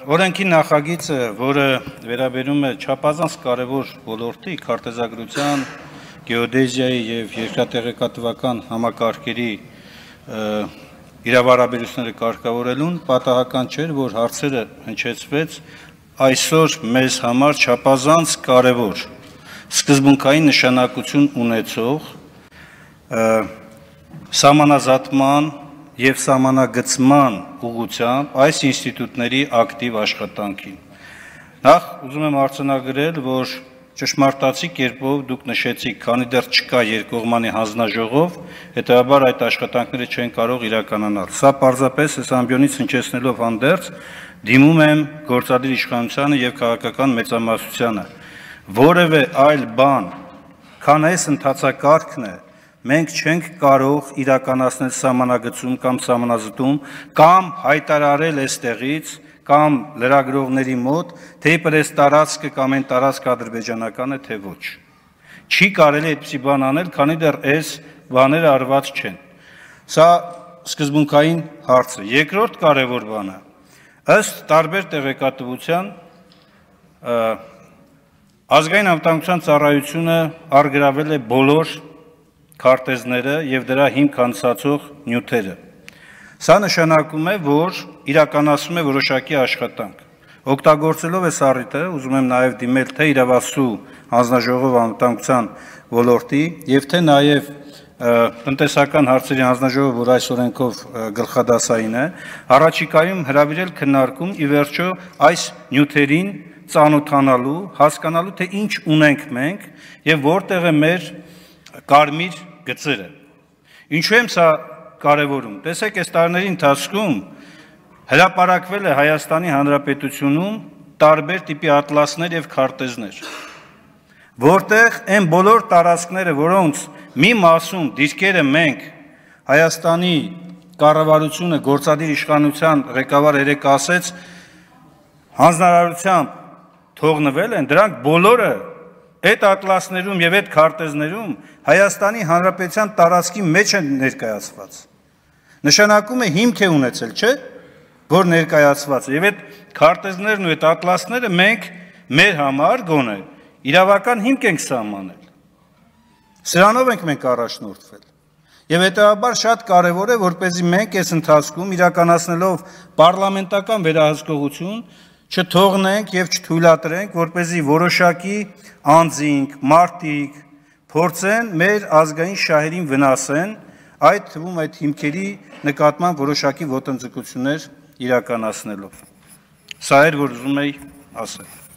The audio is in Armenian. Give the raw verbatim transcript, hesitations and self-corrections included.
Օրենքի նախագիծը, որը վերաբերում է չափազանց կարևոր ոլորտի քարտեզագրության, գեոդեզիայի եւ երկրատեղեկատվական համակարգերի իրավարաբերությունները կարգավորելուն պատահական չէր, որ հարցերը հնչեցվեց այսօր մեզ համար չափազանց կարևոր սկզբունքային նշանակություն ունեցող սահմանազատման եւ սահմանագծման ուղղությամբ այս ինստիտուտների ակտիվ աշխատանքին։ Նախ ուզում եմ արձանագրել, որ ճշմարտացի կերպով դուք նշեցիք, քանի դեռ չկա երկկողմանի հանձնաժողով, հետեւաբար այդ աշխատանքները չեն կարող իրականանալ։ Սա պարզապես այս ամբիոնից հնչեցնելով հանդերձ դիմում եմ գործադիր իշխանությանը եւ քաղաքական մեծամասնությանը, որևէ այլ բան, քան այս ընթացակարգն է, մենք չենք կարող իրականացնել սահմանագծում կամ սահմանազատում կամ հայտարարել այստեղից կամ լրագրողների մոտ, թե իբր այս տարածքը կամ այն տարածքը ադրբեջանական է, թե ոչ։ Չի կարելի այդպիսի բան անել, քանի դեռ այս բաները արված չեն։ Սա սկզբունքային հարց է։ Երկրորդ կարևոր բանը, ըստ տարբեր տեղեկատվության, ազգային անվտանգության ծառայությունը առգրավել է բոլոր քարտեզները եւ դրա հիմք հանդիսացող նյութերը։ Սա նշանակում է, որ իրականացում է որոշակի աշխատանք։ Օգտագործելով այս առիթը, ուզում եմ նաեւ դիմել թե իրավասու հանձնաժողով անվտանգության ոլորտի եւ թե նաեւ տնտեսական հարցերի հանձնաժողով, որ այս օրենքով գլխադասային է, առաջիկայում հրավիրել քննարկում ի վերջո այս նյութերին ծանոթանալու, հասկանալու, թե ինչ ունենք մենք եւ որտեղ է մեր կարմիր գծերը։ Ինչու եմ սա կարևորում։ Տեսեք, այս տարիների ընթացքում հրապարակվել է Հայաստանի Հանրապետությունում տարբեր տիպի ատլասներ եւ քարտեզներ, որտեղ այն բոլոր տարածքները, որոնց մի մասում դիրքերը մենք Հայաստանի կառավարությունը գործադիր իշխանության ղեկավար երեք ասեց հանձնարարությամբ թողնվել են, դրանք բոլորը այդ ատլասներում եւ այդ քարտեզներում Հայաստանի Հանրապետության տարածքի մեջ են ներկայացված։ Նշանակում է հիմք է ունեցել, չէ՞, որ ներկայացված է։ Եվ այդ քարտեզներն ու այդ ատլասները մենք մեր համար գոնե իրավական հիմք ենք սահմանել։ Սրանով ենք մենք առաջնորդվել։ Եվ հետեւաբար շատ կարեւոր է, որպեսզի մենք այս ընթացքում իրականացնելով պարլամենտական վերահսկողություն չթողնենք եւ չթույլատրենք, որպեսզի որոշակի անձինք, մարդիկ փորձեն մեր ազգային շահերին վնասեն, այդ թվում այդ հիմքերի նկատմամբ որոշակի ոտնձգություններ իրականացնելով։ Սա էր, որ ուզում էի ասել։